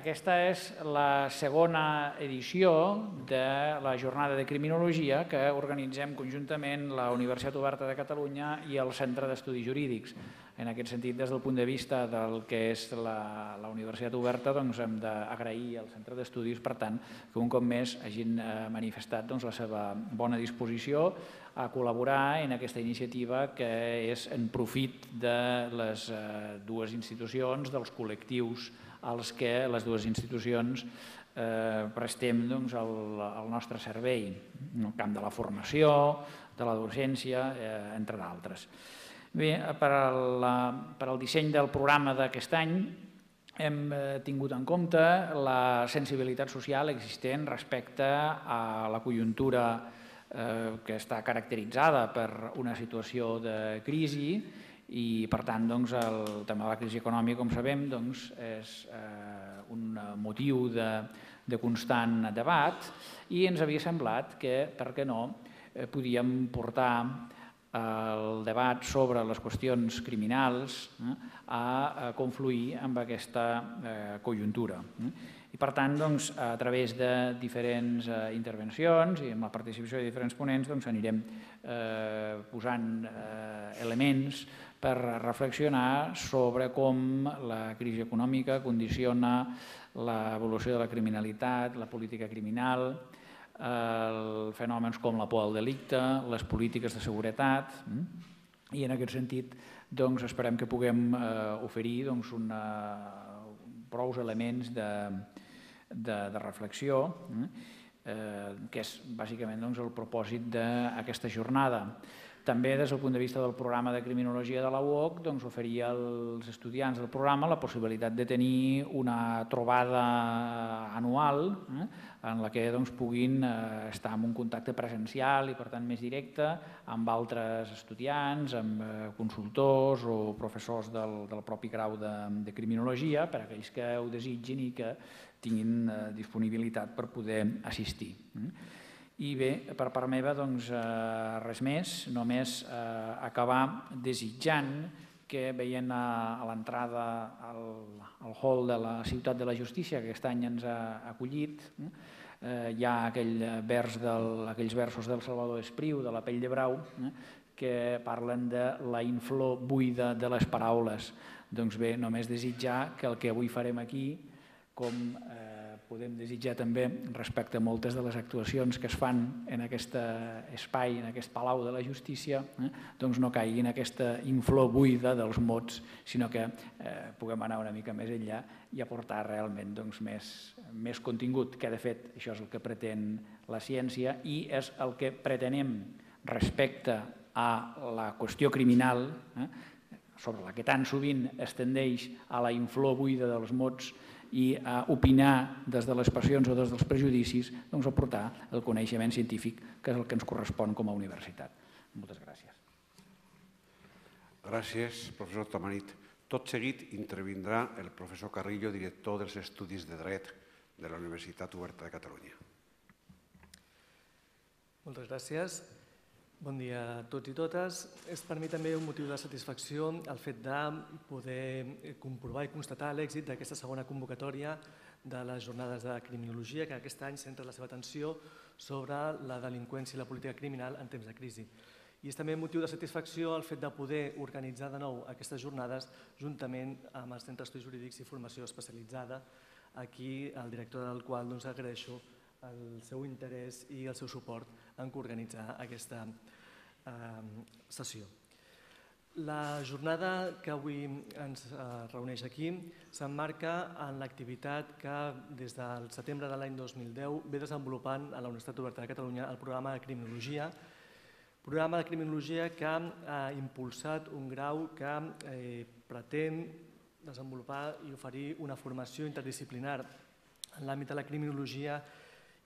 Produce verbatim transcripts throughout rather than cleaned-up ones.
aquesta és la segona edició de la jornada de criminologia que organitzem conjuntament la Universitat Oberta de Catalunya i el Centre d'Estudis Jurídics. En aquest sentit, des del punt de vista del que és la, la Universitat Oberta, doncs hem d'agrair al Centre d'Estudis, per tant, que un cop més hagin manifestat doncs, la seva bona disposició a col·laborar en aquesta iniciativa que és en profit de les dues institucions, dels col·lectius als que les dues institucions prestem el nostre servei, en el camp de la formació, de la docència, entre d'altres. Bé, per al disseny del programa d'aquest any hem tingut en compte la sensibilitat social existent respecte a la conjuntura que està caracteritzada per una situació de crisi i, per tant, el tema de la crisi econòmica, com sabem, és un motiu de constant debat i ens havia semblat que, per què no, podíem portar el debat sobre les qüestions criminals a confluir amb aquesta conjuntura. I, per tant, a través de diferents intervencions i amb la participació de diferents ponents anirem posant elements per reflexionar sobre com la crisi econòmica condiciona l'evolució de la criminalitat, la política criminal, fenòmens com la por al delicte, les polítiques de seguretat, i en aquest sentit esperem que puguem oferir prou elements de reflexió, que és bàsicament el propòsit d'aquesta jornada. També, des del punt de vista del programa de criminologia de la U O C, oferir als estudiants del programa la possibilitat de tenir una trobada anual en la que puguin estar en un contacte presencial i, per tant, més directe amb altres estudiants, amb consultors o professors del propi grau de criminologia, per a aquells que ho desitgin i que tinguin disponibilitat per poder assistir. I bé, per part meva, doncs res més, només acabar desitjant que veient a l'entrada al hall de la Ciutat de la Justícia, que aquest any ens ha acollit, hi ha aquells versos del Salvador Espriu, de La pell de brau, que parlen de la inflor buida de les paraules. Doncs bé, només desitjar que el que avui farem aquí, com podem desitjar també respecte a moltes de les actuacions que es fan en aquest espai, en aquest Palau de la Justícia, doncs no caigui en aquesta inflor buida dels mots, sinó que puguem anar una mica més enllà i aportar realment més contingut, que de fet això és el que pretén la ciència i és el que pretenem respecte a la qüestió criminal, sobre la que tan sovint es tendeix a la inflor buida dels mots i a opinar des de les passions o des dels prejudicis, doncs aportar el coneixement científic, que és el que ens correspon com a universitat. Moltes gràcies. Gràcies, professor Tamarit. Tot seguit intervindrà el professor Carrillo, director dels Estudis de Dret de la Universitat Oberta de Catalunya. Moltes gràcies. Bon dia a tots i totes. És per mi també un motiu de satisfacció el fet de poder comprovar i constatar l'èxit d'aquesta segona convocatòria de les jornades de criminologia, que aquest any centra la seva atenció sobre la delinqüència i la política criminal en temps de crisi. I és també un motiu de satisfacció el fet de poder organitzar de nou aquestes jornades juntament amb el Centre d'Estudis Jurídics i Formació Especialitzada, aquí el director del qual agraeixo el seu interès i el seu suport en coorganitzar aquesta sessió. La jornada que avui ens reuneix aquí s'emmarca en l'activitat que des del setembre de l'any dos mil deu ve desenvolupant a la Universitat Oberta de Catalunya el programa de criminologia, programa de criminologia que ha impulsat un grau que pretén desenvolupar i oferir una formació interdisciplinar en l'àmbit de la criminologia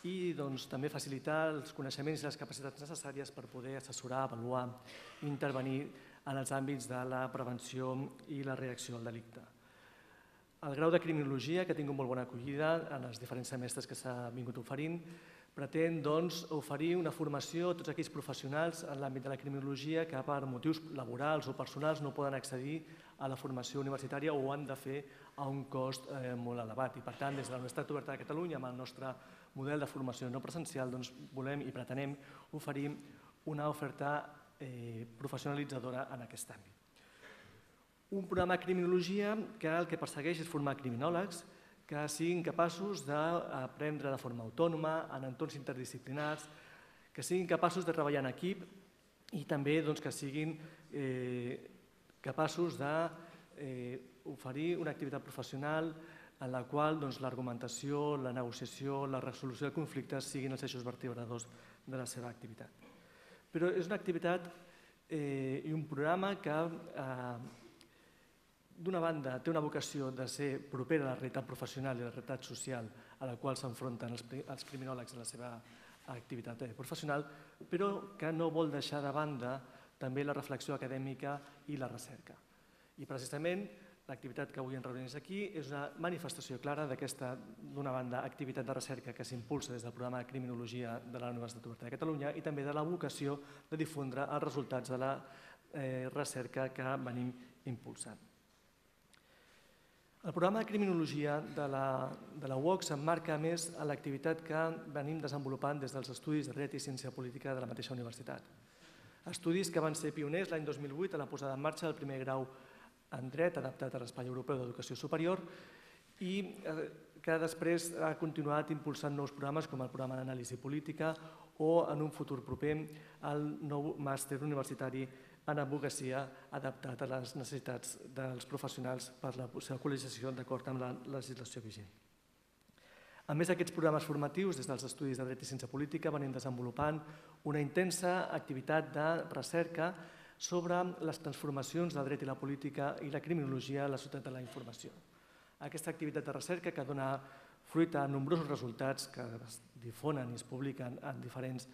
i també facilitar els coneixements i les capacitats necessàries per poder assessorar, avaluar i intervenir en els àmbits de la prevenció i la reacció al delicte. El grau de criminologia, que ha tingut molt bona acollida en els diferents semestres que s'ha vingut oferint, pretén oferir una formació a tots aquells professionals en l'àmbit de la criminologia que per motius laborals o personals no poden accedir a la formació universitària o ho han de fer a un cost molt elevat. I per tant, des de la Universitat Oberta de Catalunya, amb el nostre model de formació no presencial, volem i pretenem oferir una oferta professionalitzadora en aquest àmbit. Un programa de criminologia que el que persegueix és formar criminòlegs que siguin capaços d'aprendre de forma autònoma, en entorns interdisciplinars, que siguin capaços de treballar en equip i també que siguin capaços d'oferir una activitat professional en la qual l'argumentació, la negociació, la resolució de conflictes siguin els eixos vertebradors de la seva activitat. Però és una activitat i un programa que d'una banda, té una vocació de ser propera a la realitat professional i a la realitat social a la qual s'enfronten els criminòlegs en la seva activitat professional, però que no vol deixar de banda també la reflexió acadèmica i la recerca. I precisament l'activitat que avui ens reuneix aquí és una manifestació clara d'aquesta, d'una banda, activitat de recerca que s'impulsa des del programa de criminologia de la Universitat Oberta de Catalunya i també de la vocació de difondre els resultats de la recerca que venim impulsant. El programa de criminologia de la U O C s'emmarca a més en l'activitat que venim desenvolupant des dels estudis de dret i ciència política de la mateixa universitat. Estudis que van ser pioners l'any dos mil vuit a la posada en marxa del primer grau en dret adaptat a l'Espai Europeu d'Educació Superior i que després ha continuat impulsant nous programes com el programa d'anàlisi política o en un futur proper el nou màster universitari en advocacia adaptat a les necessitats dels professionals per la seva col·legiació d'acord amb la legislació vigent. A més d'aquests programes formatius, des dels estudis de dret i ciència política venim desenvolupant una intensa activitat de recerca sobre les transformacions del dret i la política i la criminologia a la societat de la informació. Aquesta activitat de recerca que dona fruit a nombrosos resultats que es difonen i es publiquen en diferents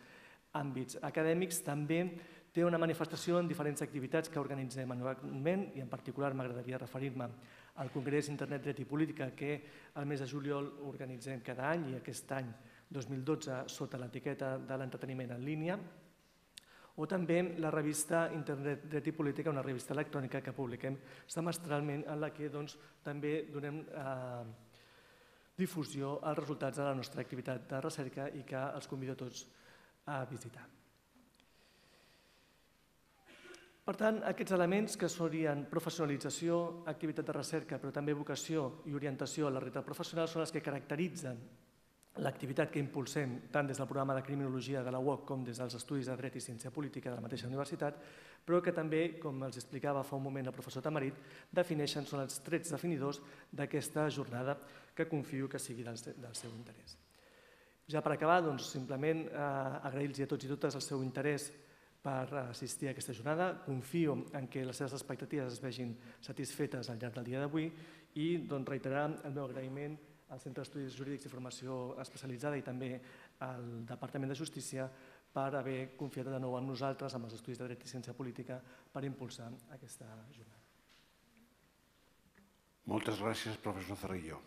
àmbits acadèmics també té una manifestació en diferents activitats que organitzem anualment i en particular m'agradaria referir-me al Congrés Internet Dret i Política que el mes de juliol organitzem cada any i aquest any dos mil dotze sota l'etiqueta de l'entreteniment en línia o també la revista Internet Dret i Política, una revista electrònica que publiquem semestralment en la que també donem difusió als resultats de la nostra activitat de recerca i que els convido a tots a visitar. Per tant, aquests elements que serien professionalització, activitat de recerca, però també vocació i orientació a la realitat professional són els que caracteritzen l'activitat que impulsem tant des del programa de criminologia de la U O C com des dels estudis de dret i ciència política de la mateixa universitat, però que també, com els explicava fa un moment el professor Tamarit, defineixen, són els trets definidors d'aquesta jornada que confio que sigui del seu interès. Ja per acabar, simplement agrair-los a tots i totes el seu interès per assistir a aquesta jornada. Confio en que les seves expectatives es vegin satisfetes al llarg del dia d'avui i reiterar el meu agraïment al Centre d'Estudis Jurídics i Formació Especialitzada i també al Departament de Justícia per haver confiat de nou en nosaltres, amb els estudis de dret i ciència política, per impulsar aquesta jornada. Moltes gràcies, professor Cerrillo.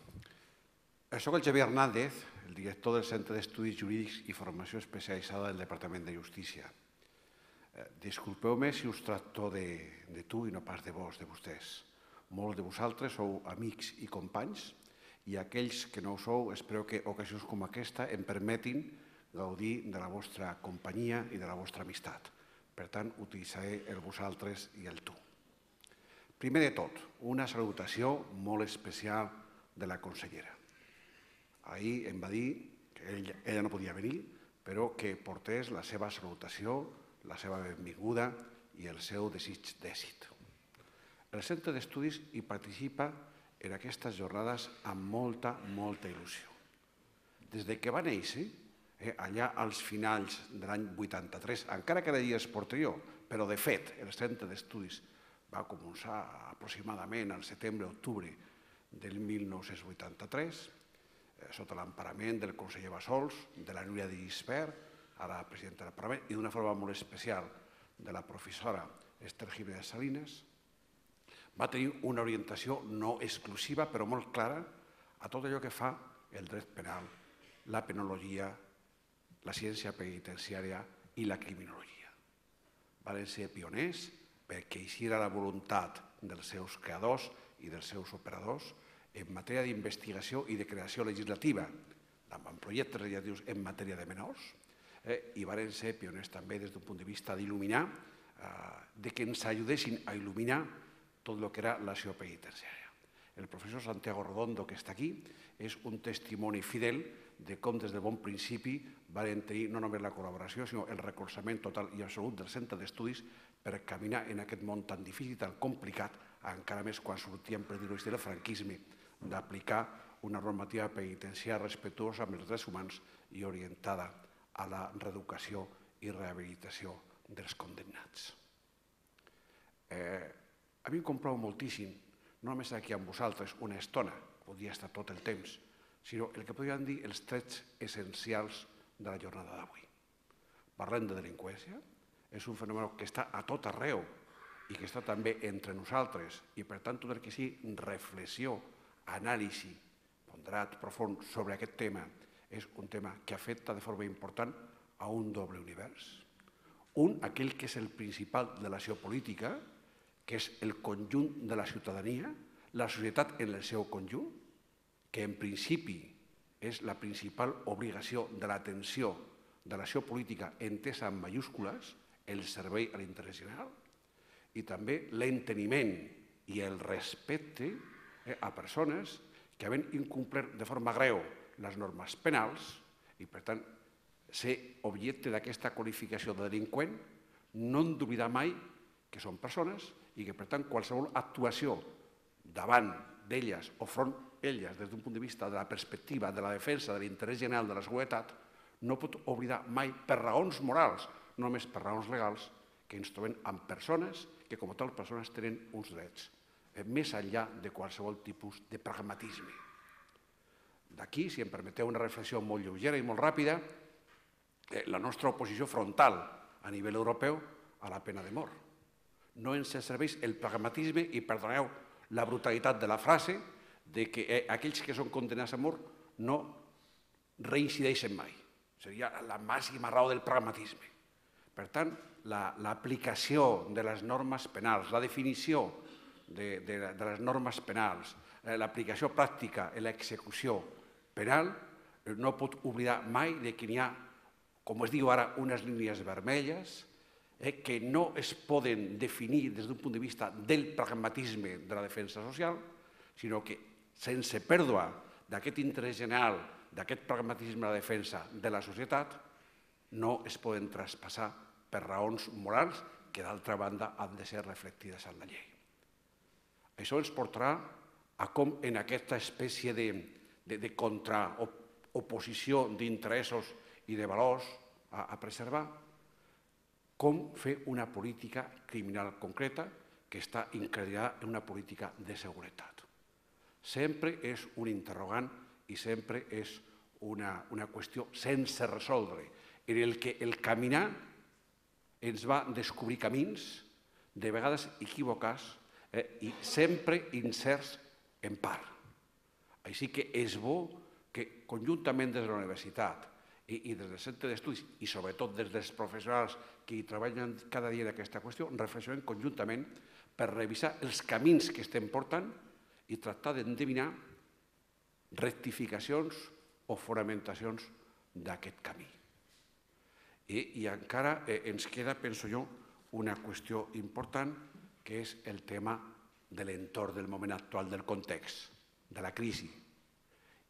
Soc el Xavier Hernández, el director del Centre d'Estudis Jurídics i Formació Especialitzada del Departament de Justícia. Disculpeu-me si us tracto de tu i no pas de vos, de vostès. Molts de vosaltres sou amics i companys i aquells que no ho sou, espero que ocasions com aquesta em permetin gaudir de la vostra companyia i de la vostra amistat. Per tant, utilitzaré el vosaltres i el tu. Primer de tot, una salutació molt especial de la consellera. Ahir em va dir que ella no podia venir, però que portés la seva salutació, la seva benvinguda i el seu desig d'èxit. El Centre d'Estudis hi participa en aquestes jornades amb molta, molta il·lusió. Des que va néixer, allà als finals de l'any vuitanta-tres, encara que de dies posterior, però de fet el Centre d'Estudis va començar aproximadament al setembre-octubre del mil nou-cents vuitanta-tres, sota l'emparament del conseller Bassols, de la Núria de Gispert, ara presidenta del Parlament, i d'una forma molt especial de la professora Esther Jiménez Salinas, va tenir una orientació no exclusiva, però molt clara, a tot allò que fa el dret penal, la penologia la ciència penitenciària i la criminologia. Van ser pioners perquè així era la voluntat dels seus creadors i dels seus operadors en matèria d'investigació i de creació legislativa, amb projectes legislatius en matèria de menors, i van ser pioners també des d'un punt de vista d'il·luminar, de que ens ajudessin a il·luminar tot el que era l'acció penitenciària. El professor Santiago Redondo, que està aquí, és un testimoni fidel de com des del bon principi van tenir no només la col·laboració, sinó el recolzament total i absolut del centre d'estudis per caminar en aquest món tan difícil i tan complicat, encara més quan sortíem, per dir-ho així, del franquisme, d'aplicar una normativa penitenciària respectuosa amb els drets humans i orientada a la reeducació i rehabilitació dels condemnats. A mi em complau moltíssim, no només aquí amb vosaltres una estona, podria estar tot el temps, sinó el que podríem dir els trets essencials de la jornada d'avui. Parlem de delinqüència, és un fenomen que està a tot arreu i que està també entre nosaltres i, per tant, tot el que sigui reflexió, anàlisi, ponderat, profund sobre aquest tema, és un tema que afecta de forma important a un doble univers. Un, aquell que és el principal de l'acció política, que és el conjunt de la ciutadania, la societat en el seu conjunt, que en principi és la principal obligació de l'atenció de l'acció política entesa en mayúscules, el servei a l'interès general, i també l'enteniment i el respecte a persones que havent incomplert de forma greu les normes penals i, per tant, ser objecte d'aquesta qualificació de delinqüent, no hem d'oblidar mai que són persones i que, per tant, qualsevol actuació davant d'elles o front elles des d'un punt de vista de la perspectiva de la defensa de l'interès general de la seguretat no pot oblidar mai per raons morals, no només per raons legals, que ens trobem amb persones que com a tal persones tenen uns drets, més enllà de qualsevol tipus de pragmatisme. D'aquí, si em permeteu una reflexió molt lleugera i molt ràpida, la nostra oposició frontal a nivell europeu a la pena de mort. No ens serveix el pragmatisme i, perdoneu la brutalitat de la frase, de que aquells que són condemnats a mort no reincideixen mai. Seria la màxima raó del pragmatisme. Per tant, l'aplicació de les normes penals, la definició de les normes penals, l'aplicació pràctica i l'execució penal no pot oblidar mai que n'hi ha, com es diu ara, unes línies vermelles que no es poden definir des d'un punt de vista del pragmatisme de la defensa social, sinó que sense pèrdua d'aquest interès general, d'aquest pragmatisme de la defensa de la societat, no es poden traspassar per raons morals que, d'altra banda, han de ser reflectides en la llei. Això ens portarà a com en aquesta espècie de contraoposició d'interessos i de valors a preservar, com fer una política criminal concreta que està incardinada en una política de seguretat. Sempre és un interrogant i sempre és una qüestió sense resoldre, en el que el caminar ens va descobrir camins, de vegades equivocats i sempre incerts en part. Així que és bo que conjuntament des de la universitat i des del centre d'estudis i sobretot des dels professionals que hi treballen cada dia en aquesta qüestió, reflexionem conjuntament per revisar els camins que estem portant i tractar d'endevinar rectificacions o fonamentacions d'aquest camí. I encara ens queda, penso jo, una qüestió important, que és el tema de l'entorn del moment actual, del context, de la crisi,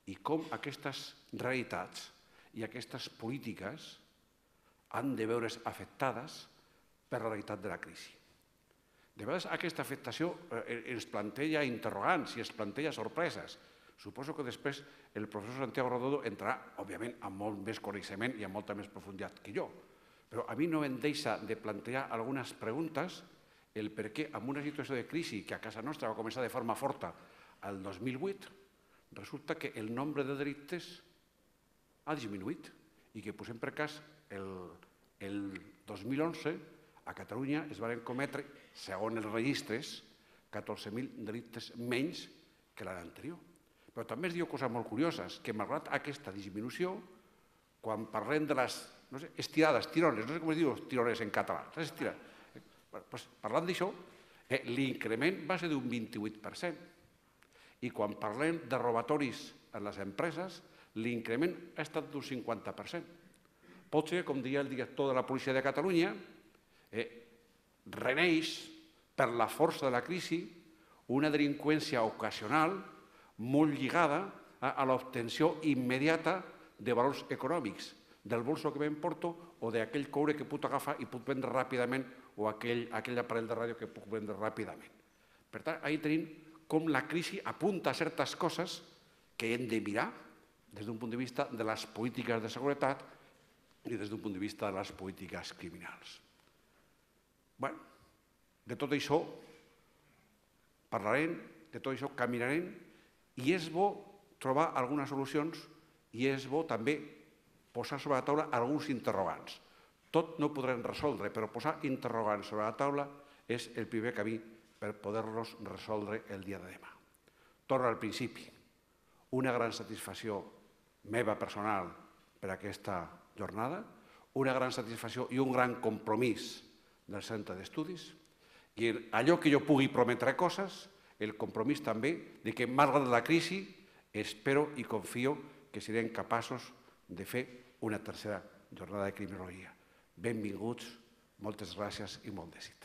i com aquestes realitats i aquestes polítiques han de veure's afectades per la realitat de la crisi. De vegades aquesta afectació ens planteja interrogants i ens planteja sorpreses. Suposo que després el professor Santiago Redondo entrarà, òbviament, amb molt més coneixement i amb molta més profunditat que jo. Però a mi no em deixa de plantejar algunes preguntes el per què en una situació de crisi que a casa nostra va començar de forma forta el dos mil vuit, resulta que el nombre de delictes ha disminuït i que, posem per cas, el dos mil onze a Catalunya es van cometre, segons els registres, catorze mil delictes menys que l'any anterior. Però també es diu coses molt curioses, que malgrat aquesta disminució, quan parlem de les no sé, estirades, tirones, no sé com es diu tirones en català, les estirades. Pues, parlant d'això, eh, l'increment va ser d'un vint-i-vuit per cent. I quan parlem de robatoris en les empreses, l'increment ha estat d'un cinquanta per cent. Pot ser, com deia el director de la Policia de Catalunya, eh, reneix per la força de la crisi una delinqüència ocasional molt lligada a, a l'obtenció immediata de valors econòmics, del bolso que m'emporto o d'aquell coure que puc agafar i puc vendre ràpidament o aquell, aquell aparell de ràdio que puc vendre ràpidament. Per tant, ahí tenim com la crisi apunta a certes coses que hem de mirar des d'un punt de vista de les polítiques de seguretat i des d'un punt de vista de les polítiques criminals. Bé, de tot això parlarem, de tot això caminarem i és bo trobar algunes solucions i és bo també posar sobre la taula alguns interrogants. Tot no ho podrem resoldre, però posar interrogants sobre la taula és el primer camí per poder-los resoldre el dia de demà. Torno al principi. Una gran satisfacció meva personal per aquesta jornada, una gran satisfacció i un gran compromís del centre d'estudis i allò que jo pugui prometre coses, el compromís també de que, malgrat la crisi, espero i confio que serem capaços de fer una tercera jornada de criminologia. Benvinguts, moltes gràcies i molt d'èxit.